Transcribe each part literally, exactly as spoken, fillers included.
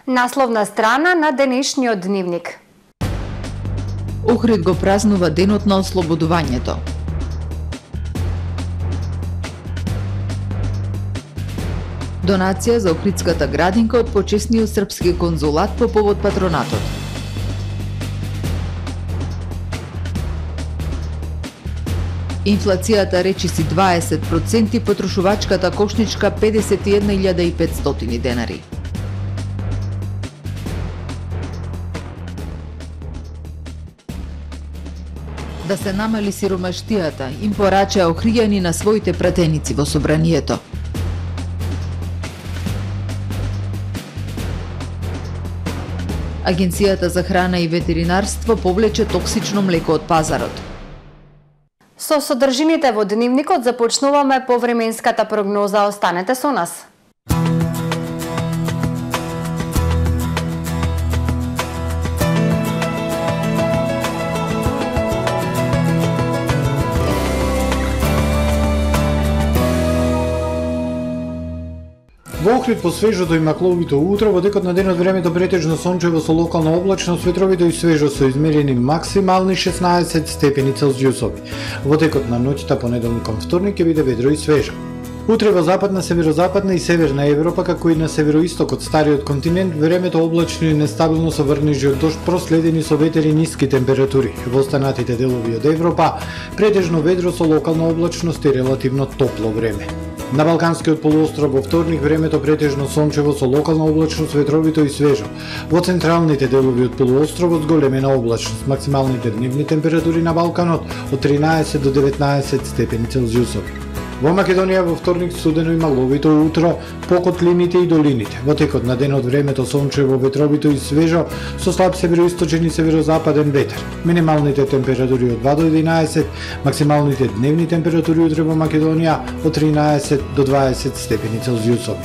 Насловна страна на денешниот дневник. Охрид го празнува денот на ослободувањето. Донација за Охридската градинка од почесниот српски конзулат по повод патронатот. Инфлацијата речиси дваесет проценти, потрошувачката кошничка педесет и една илјада и петстотини денари. Да се намали сиромаштијата, им порачаа охријани на своите пратеници во собранието. Агенцијата за храна и ветеринарство повлече токсично млеко од пазарот. Со содржините во дневникот започнуваме по временската прогноза. Останете со нас. Во Охрид по свежото и макловито утро, во декот на денот времето претежно сончево со локална облачност, ветровито и свежо со измерени максимални шеснаесет степени Целзиусови. Во декот на ноќта понеделник кон вторник ќе биде ведро и свежо. Утре во западна, северозападна и северна Европа, како и на североисток од стариот континент, времето облачно и нестабилно со врнежи од дожд, проследени со ветер и ниски температури. Во останатите делови од Европа, претежно ведро со локална облачност и релативно топло време. На Балканскиот полуостров во вторник времето претежно сончево со локална облачност, ветровито и свежо. Во централните делови од полуостровот зголемена облачност. Максималните дневни температури на Балканот од тринаесет до деветнаесет степени Целзиусови. Во Македонија во вторник студено и маловито утро по котлините и долините. Во текот на денот времето сончево, ветровито и свежо со слаб североисточен и северозападен ветер. Минималните температури од два до единаесет, максималните дневни температури утре во Македонија од тринаесет до дваесет степени Целзиусови.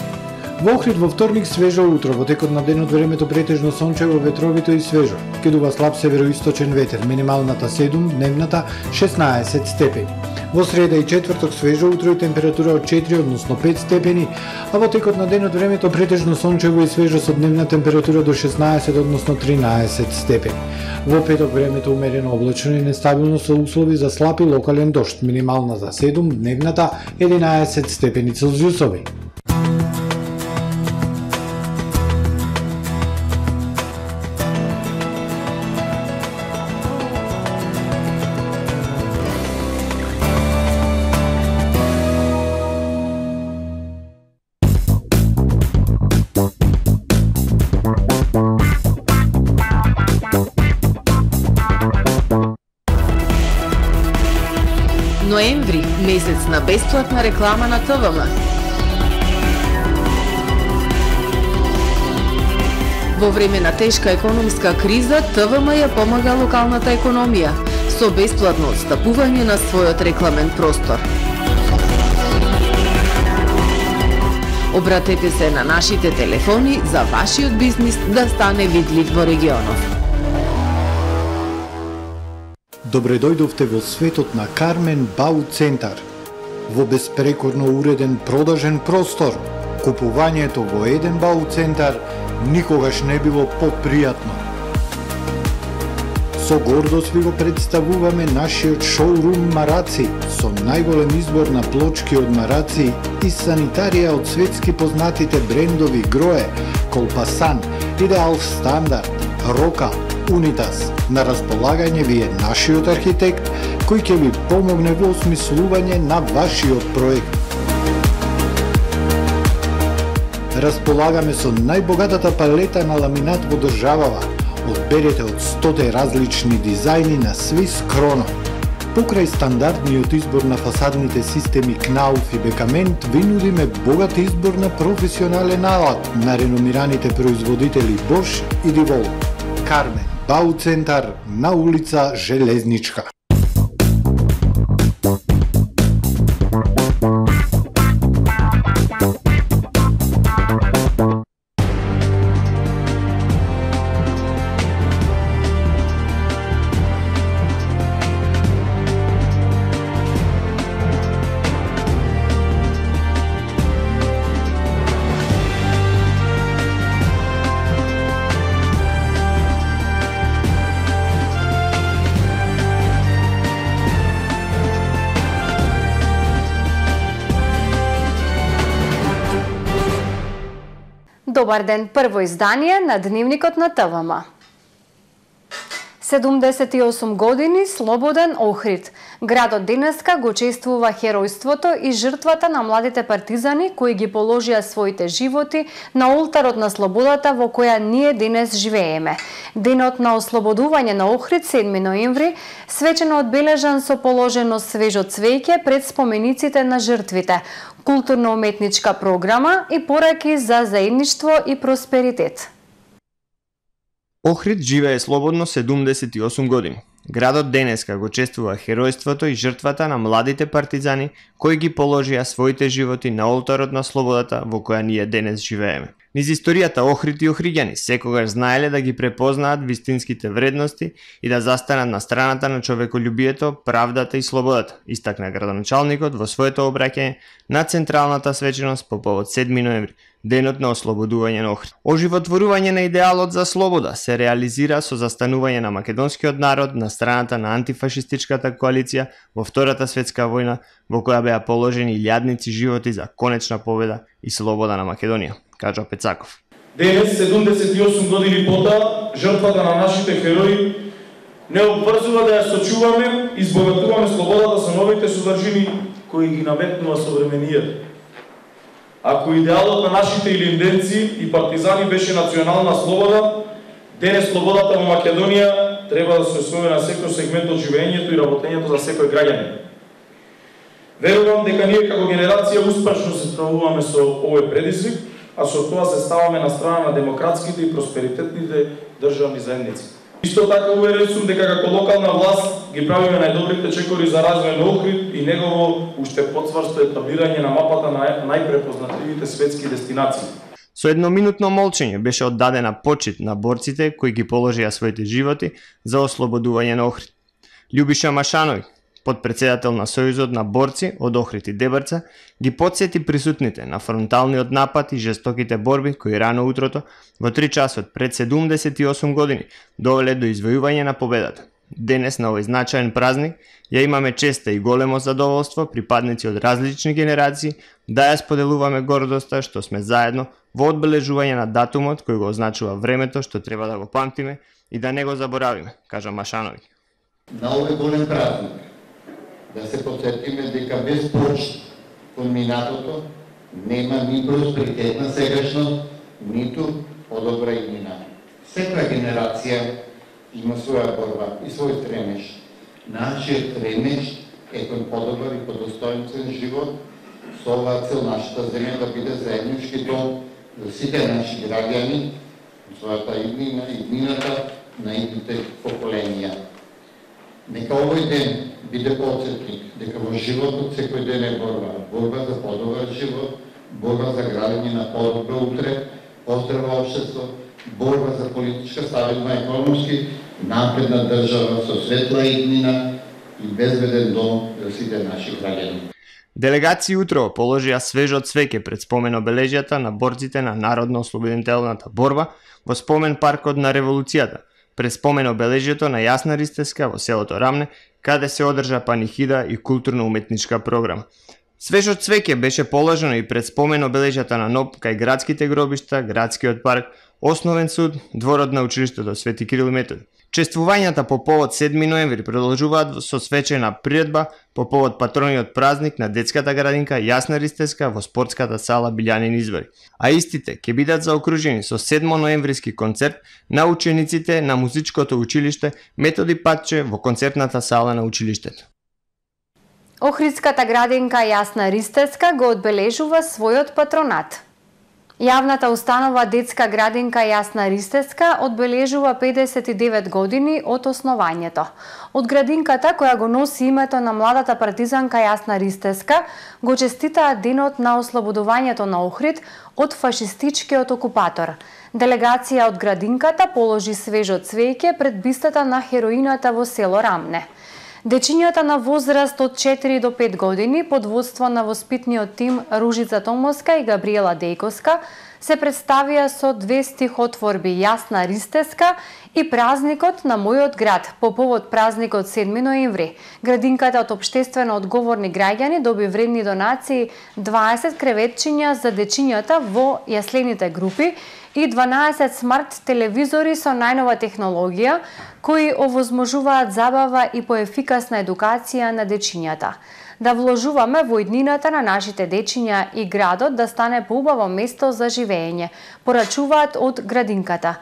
Во Охрид во вторник свежо утро, во текот на денот времето претежно сончево, ветровито и свежо. Ке дува слаб североисточен ветер, минималната седум, дневната шеснаесет степени. Во среда и четврток свежо утро и температура од четири, односно пет степени, а во текот на денот времето претежно сончево и свежо со дневна температура до шеснаесет, односно тринаесет степени. Во петок времето умерено облачно и нестабилно со услови за слаб и локален дожд, минимална за седум, дневната единаесет степени Целзиусови. Ноември, месец на бесплатна реклама на ТВМ. Во време на тешка економска криза, ТВМ ја помага локалната економија со бесплатно отстапување на својот рекламен простор. Обратете се на нашите телефони за вашиот бизнис да стане видлив во регионов. Добре дојдовте во светот на Кармен Бау Центар. Во беспрекорно уреден продажен простор, купувањето во еден Бау Центар никогаш не било попријатно. Со гордост ви го представуваме нашиот шоурум Мараци, со најголем избор на плочки од мараци и санитарија од светски познатите брендови Грое, Колпасан, Идеал Стандард, Рока, Унитас. На располагање ви е нашиот архитект кој ќе ви помогне во осмислување на вашиот проект. Располагаме со најбогатата палета на ламинат во државава. Одберете од сто различни дизајни на Swiss Chrono. Покрај стандардниот избор на фасадните системи Knauf и Бекамент, ви нудиме богат избор на професионален алат на реномираните производители Bosch и Divol. Кармен Бау Центар на улица Железничка. Добар ден, прво издание на Дневникот на ТВМ. седумдесет и осум години слободен Охрид. Градот денеска го чествува херојството и жртвата на младите партизани кои ги положија своите животи на олтарот на слободата во која ние денес живееме. Денот на ослободување на Охрид, седми ноември, свечено одбележан со положено свежо цвеќе пред спомениците на жртвите, културно-уметничка програма и пораки за заедништво и просперитет. Охрид живее слободно седумдесет и осум години. Градот денеска го чествува херојството и жртвата на младите партизани кои ги положија своите животи на олтарот на слободата во која ние денес живееме. Низ историјата Охрид и охриѓани секогаш знаеле да ги препознаат вистинските вредности и да застанат на страната на човеколюбието, правдата и слободата, истакна градоначалникот во своето обраќање на централната свеченост по повод седми ноември, денот на ослободување на Охрид. Оживотворување на идеалот за слобода се реализира со застанување на македонскиот народ на страната на антифашистичката коалиција во Втората светска војна, во која беа положени илјадници животи за конечна победа и слобода на Македонија, кажа Пецаков. Денес, седумдесет и осум години потоа, жртвата на нашите херои не обврзува да ја сочуваме и збогатуваме слободата со новите содржини кои ги наметнува современијата. Ако идеалот на нашите илинденци и партизани беше национална слобода, денес слободата во Македонија треба да се освои на секој сегмент од живењето и работењето за секој граѓанин. Верувам дека ние како генерација успешно се справуваме со овој предизвик, а со тоа се ставаме на страна на демократските и просперитетните државни заедници. Исто така уверен сум дека како локална власт ги правиме најдобрите чекори за развој на Охрид и негово уште потврсто етаблирање на мапата на најпрепознатливите светски дестинации. Со едноминутно молчење беше оддадена почит на борците кои ги положија своите животи за ослободување на Охрид. Љубиша Машанови, подпредседател на Сојузот на борци од Охрид и Дебрца, ги потсети присутните на фронталниот напад и жестоките борби кои рано утрото во три часот пред седумдесет и осум години довеле до извојување на победата. Денес на овој значаен празник ја имаме честа и големо задоволство припадници од различни генерации да ја споделуваме гордоста што сме заедно во одбележување на датумот кој го означува времето што треба да го памтиме и да не го заборавиме, кажа Машанови. На овој голем празник да се потсетиме дека без почит кон минатото нема ни просперитет на сегашност, ниту подобра иднина. Секоја генерација има своја борба и свој стремеж. Нашиот стремеж е кон подобар и подостоинствен живот, со оваа цел нашата земја да биде заеднички дом за сите наши граѓани, својата иднина, иднината на идните поколенија. Нека овој ден биде подсетник дека во животот секој ден е борба, борба за подобар живот, борба за градење на подобро утре, поздраво општество, борба за политичка стабилна економски напредна држава со светла иднина и безбеден дом за сите наши граѓани. Делегации утро положија свежо цвеќе пред спомен обележјата на борците на Народно-ослободителната борба во спомен паркот на Револуцијата, пред спомен обележјето на Јасна Ристевска во селото Рамне, каде се одржа панихида и културно-уметничка програма. Свежо цвеќе беше положено и пред спомен обележјата на НОП кај градските гробишта, градскиот парк, Основен суд, дворот на училиштето Свети Кирил и Методи. Чествувањата по повод седми ноември продолжуваат со свечена приредба по повод патрониот празник на детската градинка Јасна Ристевска во спортската сала Билјанин извори. А истите ќе бидат заокружени со седмоноемвриски концерт на учениците на музичкото училиште Методи Патче во концертната сала на училиштето. Охридската градинка Јасна Ристевска го одбележува својот патронат. Јавната установа детска градинка Јасна Ристевска одбележува педесет и девет години од основањето. Од градинката која го носи името на младата партизанка Јасна Ристевска го честитаат денот на ослободувањето на Охрид од фашистичкиот окупатор. Делегација од градинката положи свежо цвеќе пред бистата на хероината во село Рамне. Дечињата на возраст од четири до пет години под водство на воспитниот тим Ружица Томоска и Габриела Дејковска се представија со две стихотворби Јасна ристеска и Празникот на мојот град по повод празникот седми ноември. Градинката од општествено одговорни граѓани доби вредни донации дваесет креветчиња за дечињата во јаслените групи и дванаесет смарт телевизори со најнова технологија кои овозможуваат забава и поефикасна едукација на дечињата. Да вложуваме во иднината на нашите дечиња и градот да стане поубаво место за живење, порачуваат од градинката.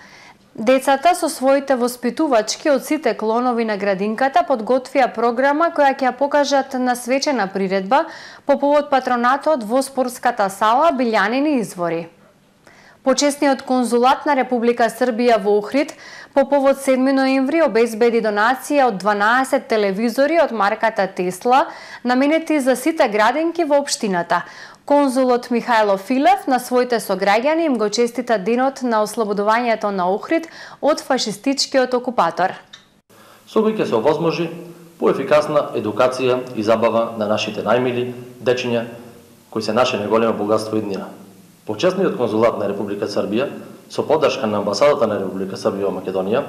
Децата со своите воспитувачки од сите клонови на градинката подготвија програма која ќе ја покажат на свечена приредба по повод патронатот во спортската сала Билјанини извори. Почесниот конзулат на Република Србија во Охрид по повод седми ноември обезбеди донација од дванаесет телевизори од марката Тесла, наменети за сите градинки во општината. Конзулот Михајло Филев на своите сограѓани им го честита денот на ослободувањето на Охрид од фашистичкиот окупатор. Со кој ќе се овозможи поефикасна едукација и забава на нашите најмили дечиња, кои се наше најголемо богатство и днина. Почесниот конзулат на Република Србија, со поддршка на амбасадата на Република Србија во Македонија,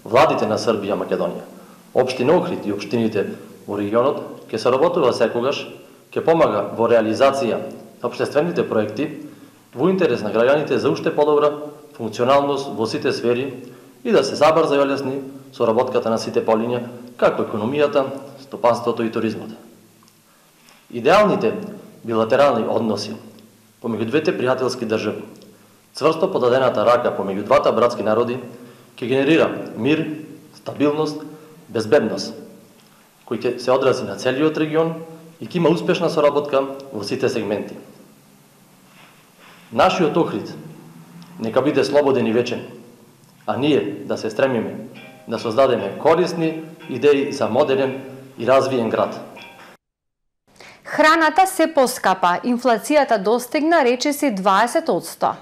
владите на Србија и Македонија, општина Охрид и општините во регионот ќе се работува секогаш, ќе помага во реализација на општествените проекти во интерес на граѓаните за уште подобра функционалност во сите сфери и да се забрза и олесни соработката на сите полиња, како економијата, стопанството и туризмот. Идеалните билатерални односи помеѓу двете пријателски држави, цврсто подадената рака помеѓу двата братски народи ќе генерира мир, стабилност, безбедност, кој ќе се одрази на целиот регион и ќе има успешна соработка во сите сегменти. Нашиот Охрид нека биде слободен и вечен, а ние да се стремиме да создадеме корисни идеи за модерен и развиен град. Храната се поскапа, инфлацијата достигна речиси дваесет одсто.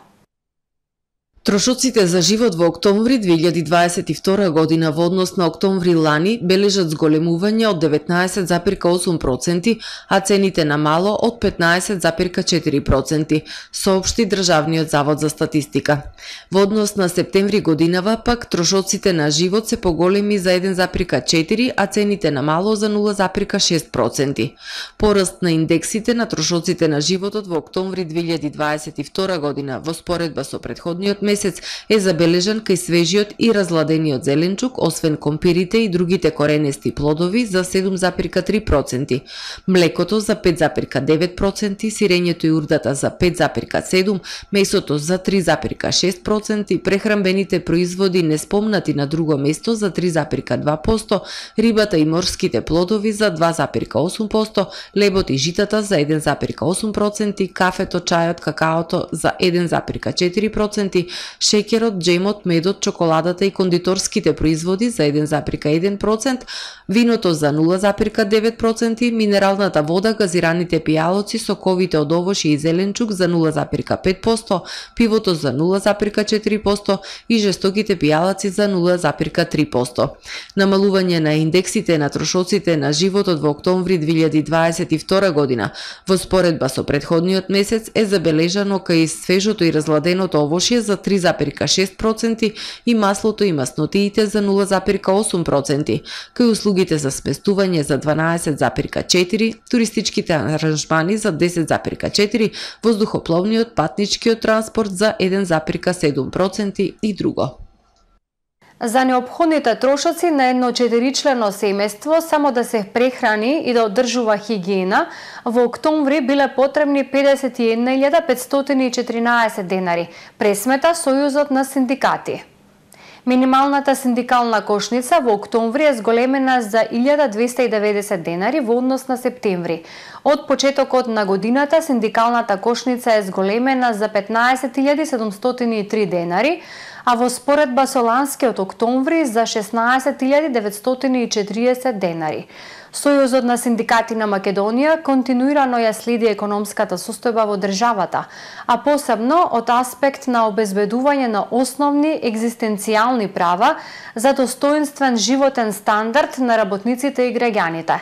Трошоците за живот во октомври две илјади дваесет и втора година во однос на октомври лани бележат зголемување од деветнаесет зарез осум проценти, а цените на мало од петнаесет зарез четири проценти, соопшти Државниот завод за статистика. Во однос на септември годинава пак трошоците на живот се поголеми за еден зарез четири, а цените на мало за нула зарез шест проценти. Пораст на индексите на трошоците на животот во октомври две илјади дваесет и втора година во споредба со претходниот месец е забележан кај свежиот и разладениот зеленчук, освен компирите и другите коренести плодови за седум зарез три проценти, млекото за пет зарез девет проценти, сирењето и урдата за пет зарез седум, месото за три зарез шест проценти, прехранбените производи неспомнати на друго место за три зарез два проценти, рибата и морските плодови за два зарез осум проценти, лебот и житата за еден зарез осум проценти, кафето, чајот, какаото за еден зарез четири проценти, шеќерот, джемот, медот, чоколадата и кондиторските производи за еден зарез еден процент, виното за нула зарез девет проценти, минералната вода, газираните пијалоци, соковите од овошје и зеленчук за нула зарез пет проценти, пивото за нула зарез четири проценти и жестоките пијалаци за нула зарез три проценти. Намалување на индексите на трошоците на животот во октомври две илјади дваесет и втора година во споредба со претходниот месец е забележано кај свежото и разладеното овошје за три зарез шест проценти и маслото и маснотиите за нула зарез осум проценти, кај услугите за сместување за дванаесет зарез четири, туристичките аранжмани за десет зарез четири, воздухопловниот патничкиот транспорт за еден зарез седум проценти и друго. За неопходните трошоци на едно четиричлено семејство само да се прехрани и да одржува хигиена, во октомври биле потребни педесет и една илјада петстотини и четиринаесет денари, пресмета Сојузот на синдикати. Минималната синдикална кошница во октомври е зголемена за илјада двесте и деветдесет денари во однос на септември. Од почетокот на годината синдикалната кошница е зголемена за петнаесет илјади седумстотини и три денари, а во споредба со ланскиот октомври за шеснаесет илјади деветстотини и четириесет денари. Сојузот на синдикати на Македонија континуирано ја следи економската состојба во државата, а посебно од аспект на обезбедување на основни екзистенцијални права за достоинствен животен стандард на работниците и граѓаните.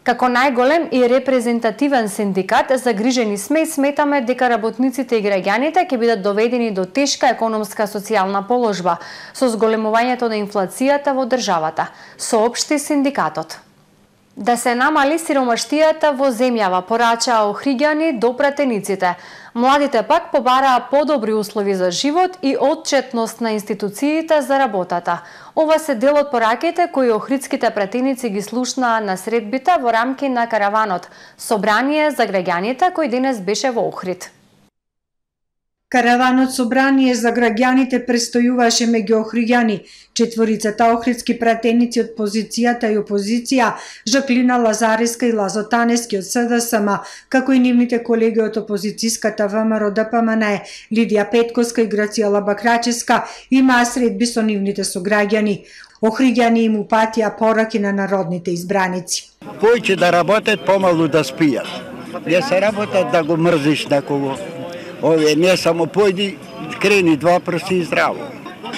Како најголем и репрезентативен синдикат, загрижени сме и сметаме дека работниците и граѓаните ќе бидат доведени до тешка економска социјална положба со зголемувањето на инфлацијата во државата, соопшти синдикатот. Да се намали сиромаштијата во земјава, порачаа Охриѓани до пратениците. Младите пак побараа подобри услови за живот и отчетност на институциите за работата. Ова се дел од пораките кои охридските пратеници ги слушнаа на средбите во рамки на караванот, собрание за граѓаните кој денес беше во Охрид. Караванот собрание за граѓаните престојуваше меѓу Охриѓани. Четворицата охридски пратеници од позицијата и опозиција, Жаклина Лазаревска и Лазо Танески од СДСМ, како и нивните колеги од опозицијската ВМРО ДПМН, Лидија Петковска и Грацијела Бакраческа, имаа средби со нивните сограѓани. Охриѓани им упатија пораки на народните избраници. Појќе да работат, помалу да спијат. Не се работат да го мрзиш некого. Овие не само појди, крени два прси и здраво.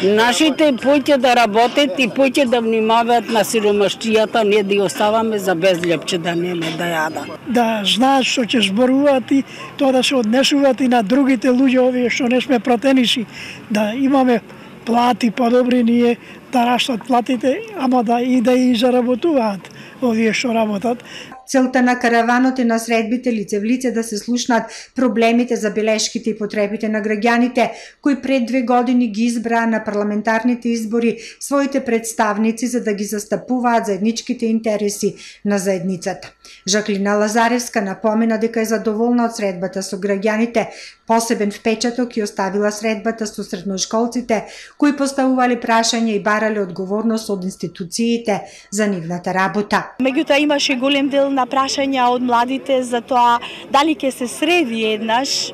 Нашите појќе да работат и појќе да внимаваат на сиромаштијата, не да ја оставаме за безлепче да неме да јада. Да знаат што ќе зборуваат и тоа да се однесуваат и на другите луѓе, овие што не сме пратеници, да имаме плати подобри, ние да растат платите, ама да и да и заработуваат овие што работат. Целта на караванот е на средбите лице в лице да се слушнат проблемите, забелешките и потребите на граѓаните, кои пред две години ги избраа на парламентарните избори своите представници за да ги застапуваат заедничките интереси на заедницата. Жаклина Лазаревска напомена дека е задоволна од средбата со граѓаните. Посебен впечаток и оставила средбата со средношколците, кои поставувале прашања и барале одговорност од институциите за нивната работа. Меѓутоа имаше голем дел на прашања од младите за тоа дали ќе се среди еднаш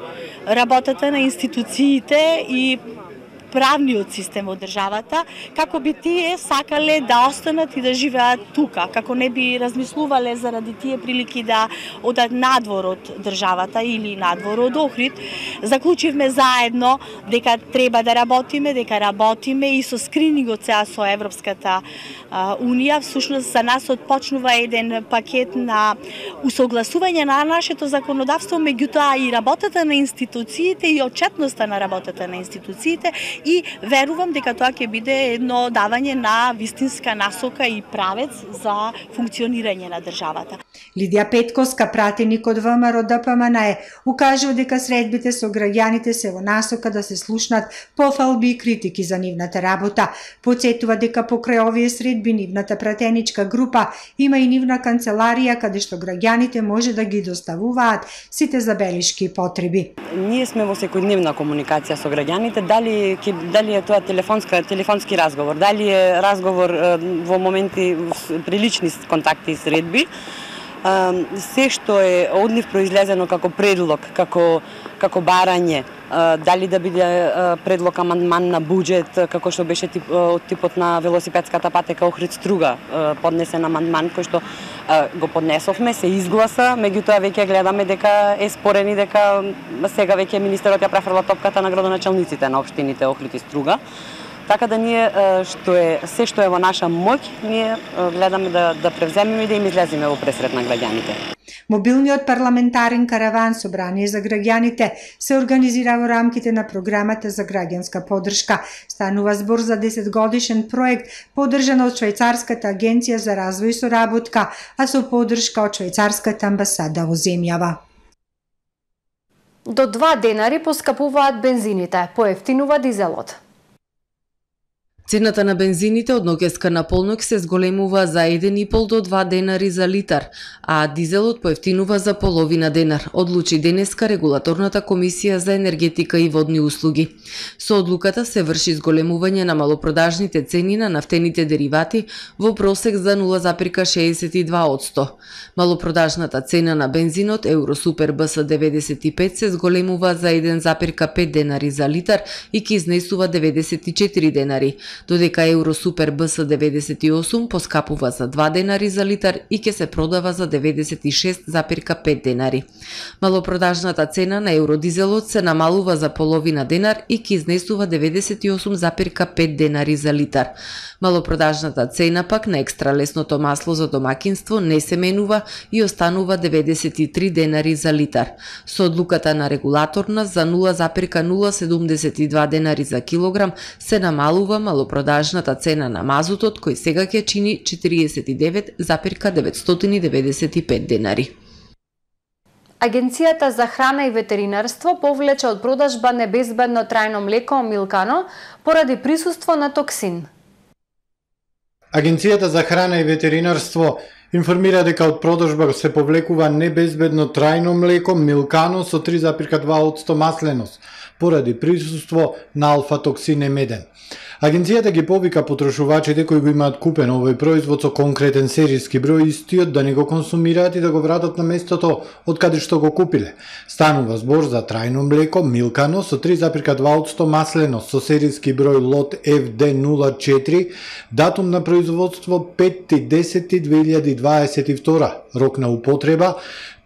работата на институциите и правниот систем од државата, како би тие сакале да останат и да живеат тука, како не би размислувале заради тие прилики да одат надвор од државата или надвор од Охрид. Заклучивме заедно дека треба да работиме, дека работиме и со скринингот сега со Европската Унија. Всушност за нас отпочнува еден пакет на усогласување на нашето законодавство, меѓутоа и работата на институциите и отчетноста на работата на институциите, и верувам дека тоа ќе биде едно давање на вистинска насока и правец за функционирање на државата. Лидија Петковска, пратеник од ВМРО ДПМН, укажува дека средбите со граѓаните се во насока да се слушнат пофалби и критики за нивната работа. Подсетува дека покрај овие средби нивната пратеничка група има и нивна канцеларија каде што граѓаните може да ги доставуваат сите забелешки и потреби. Ние сме во секојдневна комуникација со граѓаните, дали дали е тоа телефонска телефонски разговор, дали е разговор во моменти прилични контакти и средби. Се што е од нив произлезено како предлог, како како барање, дали да биде предлог амандман на буџет, како што беше тип, од типот на велосипедската патека Охрид-Струга, поднесен амандман кој што го поднесовме, се изгласа, меѓутоа веќе гледаме дека е спорени дека сега веќе министерот ја префрла топката на градоначалниците на општините Охрид и Струга. Така да ние што е се што е во наша моќ, ние гледаме да да превземеме и да им излеземе во пресрет на граѓаните. Мобилниот парламентарен караван собрание за граѓаните се организира во рамките на програмата за граѓанска поддршка. Станува збор за десетгодишен проект поддржан од Швајцарската агенција за развој и соработка, а со поддршка од Швајцарската амбасада во земјава. До два денари поскапуваат бензините, поевтинува дизелот. Цената на бензините од ноќеска на полнок се зголемува за еден и пол до два денари за литар, а дизелот поевтинува за половина денар, одлучи денеска Регулаторната комисија за енергетика и водни услуги. Со одлуката се врши зголемување на малопродажните цени на нафтените деривати во просек за нула запирка шеесет и два одсто. Малопродажната цена на бензинот Евросупер Б С деветдесет и пет се зголемува за еден запирка пет денари за литар и ќе изнесува деветдесет и четири денари, додека Евросупер Б С деветдесет и осум поскапува за два денари за литар и ќе се продава за деветдесет и шест запир пет денари. Малопродажната цена на евродизелот се намалува за половина денар и ќе изнесува деветдесет и осум запир пет денари за литар. Малопродажната цена пак на екстралесното масло за домакинство не се менува и останува деветдесет и три денари за литар. Со одлуката на регулаторна за нула запир нула седумдесет и два денари за килограм се намалува малопродажната цена на мазутот, кој сега ќе чини четириесет и девет запир деветстотини и деветдесет и пет денари. Агенцијата за храна и ветеринарство повлече од продажба небезбедно трајно млеко Милкано поради присуство на токсин. Агенцијата за храна и ветеринарство информира дека од продажба се повлекува небезбедно трајно млеко Милкано со три запир два одсто масленост поради присуство на алфа-токсин емеден. Агенцијата ги повика потрошувачите кои го имаат купен овој производ со конкретен серијски број истиот да не го консумираат и да го вратат на местото од каде што го купиле. Станува збор за трајно млеко Милкано со три запир два одсто масленост со серијски број лот Ф Д нула четири, датум на производство пети десети две илјади дваесет и втора, рок на употреба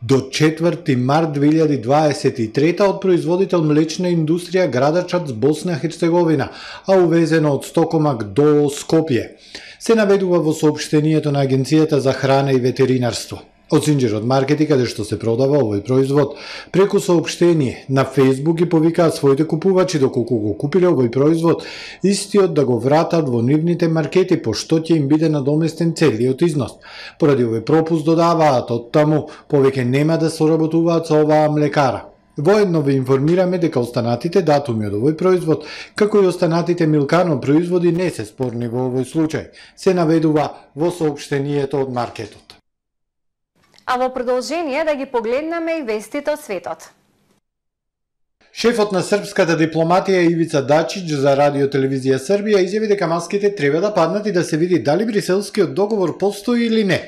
до четврти март две илјади дваесет и трета од производител млечна индустрија Градачац, Босна Херцеговина, а увезено од Стокомак до Скопје. Се наведува во соопштението на Агенцијата за храна и ветеринарство. Од Синџер маркети каде што се продава овој производ, преку соопштение на Facebook ги повикаат своите купувачи доколку го купиле овој производ, истиот да го вратат во нивните маркети, пошто ќе им биде надоместен целиот износ. Поради овој пропуст додаваат од таму повеќе нема да соработуваат со оваа млекара. Воедно ве информираме дека останатите датуми од овој производ, како и останатите Милкано производи не се спорни во овој случај. Се наведува во соопштението од маркетот. А во продолжение да ги погледнеме и вестите од светот. Шефот на српската дипломатија Ивица Дачич за Радио Телевизија Србија изјави дека маските треба да паднат и да се види дали бриселскиот договор постои или не.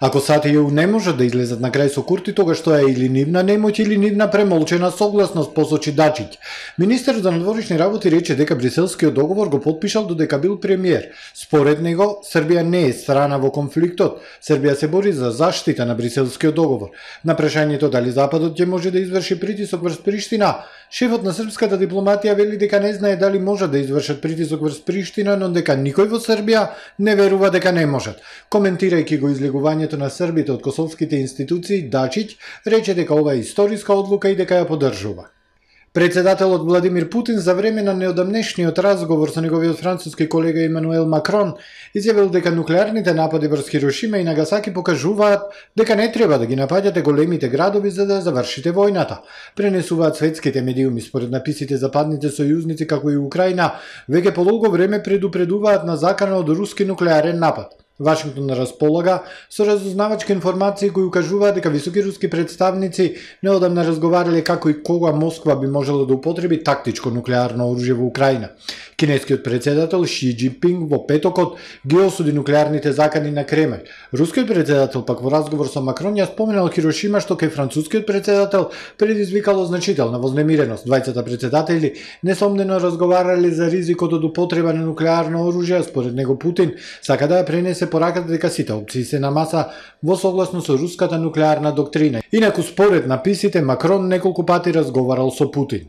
Ако САД и Е У не можат да излезат на крај со Курти, тогаш тоа е или нивна немоќ или нивна премолчена согласност, посочи Дачич. Министерот за надворешни работи рече дека бриселскиот договор го потпишал додека бил премиер. Според него, Србија не е страна во конфликтот. Србија се бори за заштита на бриселскиот договор. На прашањето дали Западот ќе може да изврши притисок врз Приштина, шефот на српската дипломатија вели дека не знае дали можат да извршат притисок врз Приштина, но дека никој во Србија не верува дека не можат. Коментирајќи го излегувањето на србите од косовските институции, Дачич рече дека ова е историска одлука и дека ја поддржува. Председателот Владимир Путин за време на неодамнешниот разговор со неговиот француски колега Емануел Макрон изјавил дека нуклеарните напади врз Хирошима и Нагасаки покажуваат дека не треба да ги напаѓате големите градови за да завршите војната. Пренесуваат светските медиуми. Според написите западните сојузници како и Украина веќе подолго време предупредуваат на закана од руски нуклеарен напад. Вашингтон располага со разузнавачки информации кои укажуваат дека високи руски представници неодамна разговарале како и кога Москва би можела да употреби тактичко нуклеарно оружје во Украина. Кинескиот председател Ши Џинпинг во петокот ги осуди нуклеарните закани на Кремљ. Рускиот председател пак во разговор со Макрон ја споменал Хирошима што кај францускиот председател предизвикало значителна вознемиреност. Двајцата председатели несомнено разговарале за ризикот од употреба на нуклеарно оружје, според него Путин сака да ја пренесе пораката дека сите опции се на маса во согласно со руската нуклеарна доктрина. Инаку според написите Макрон неколку пати разговарал со Путин.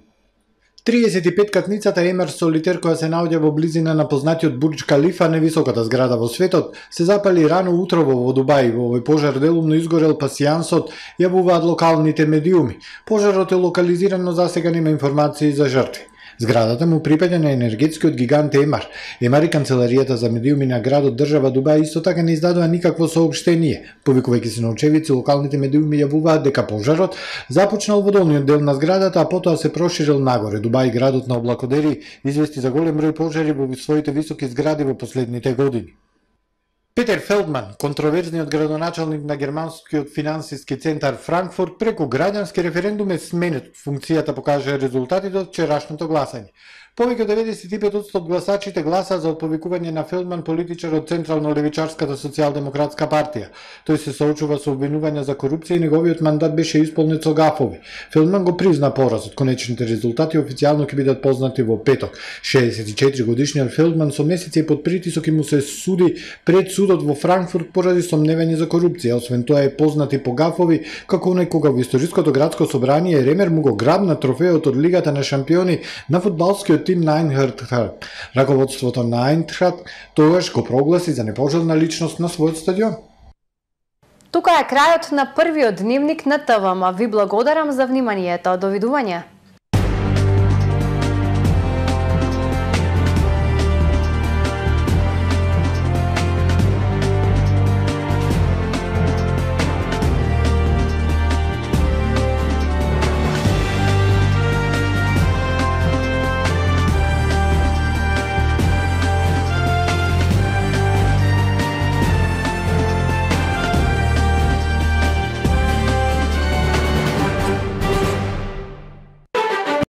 триесет и пет катницата Емер Солитер, која се наоѓа во близина на познатиот Бурџ Калифа, највисоката зграда во светот, се запали рано утрово во Дубај. Во овој пожар делумно изгорел пасијансот, јавуваат локалните медиуми. Пожарот е локализиран, но засега нема информации за жртви. Зградата му припаѓа на енергетскиот гигант Емар. Емар и канцеларијата за медиуми на градот држава Дубај исто така не издадува никакво соопштение. Повикувајќи се на очевидци, локалните медиуми јавуваат дека пожарот започнал во долниот дел на зградата, а потоа се проширил нагоре. Дубај, градот на облакодери, извести за голем број пожари во своите високи згради во последните години. Петер Фелдман, контроверзниот градоначалник на германскиот финансиски центар Франкфурт, преку граѓански референдум е сменет од функцијата, покажа резултатите од вчерашното гласање. Повеќе од деветдесет и пет одсто од гласачите гласа за отповикување на Фелдман, политичар од Централно-левичарската социјалдемократска партија. Тој се соочува со обвинувања за корупција и неговиот мандат беше исполнет со гафови. Фелдман го призна поразот. Конечните резултати официјално ќе бидат познати во петок. шеесет и четири годишниот Фелдман со месеци под притисок и му се суди пред судот во Франкфурт поради сомневање за корупција. Освен тоа е познат и по гафови, како оној кога во историското градско собрание Ремер му го грабна трофеот од Лигата на шампиони на фудбалскиот тим на Айнтрахт. Раководството на Айнтрахт тогаш го прогласи за непожелна личност на својот стадион. Тука е крајот на првиот дневник на ТВМ. Ви благодарам за вниманието. Довидување.